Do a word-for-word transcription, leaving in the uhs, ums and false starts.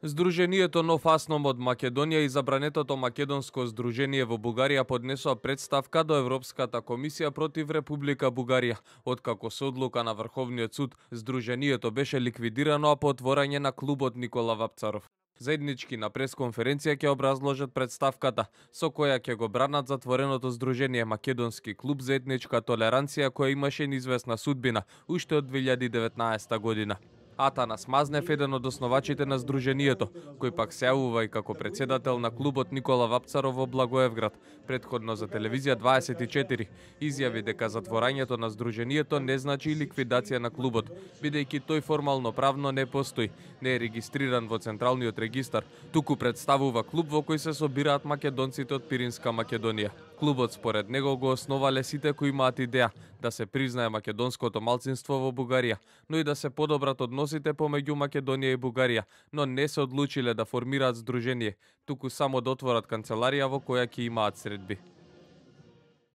Здруженијето Нов Асном од Македонија и забранетото македонско здружение во Бугарија поднесоа представка до Европската комисија против Република Бугарија. Откако со одлука на Врховниот суд здруженијето беше ликвидирано, а по отворање на клубот Никола Вапцаров. Заеднички на пресконференција ќе образложат представката, со која ќе го бранат затвореното здружение Македонски клуб за етничка толеранција, која имаше неизвестна судбина уште од две илјади и деветнаесета година. Атанас Мазнев, еден од основачите на здруженијето, кој пак се јавува и како председател на клубот Никола Вапцаров во Благоевград, предходно за телевизија дваесет и четири, изјави дека затворањето на здруженијето не значи ликвидација на клубот, бидејќи тој формално правно не постои, не е регистриран во Централниот регистар, туку представува клуб во кој се собираат македонците од Пиринска Македонија. Клубот според него го основале сите кои имаат идеја да се признае македонското малцинство во Бугарија, но и да се подобрат односите помеѓу Македонија и Бугарија, но не се одлучиле да формираат здружение, туку само да отворат канцеларија во која ќе имаат средби.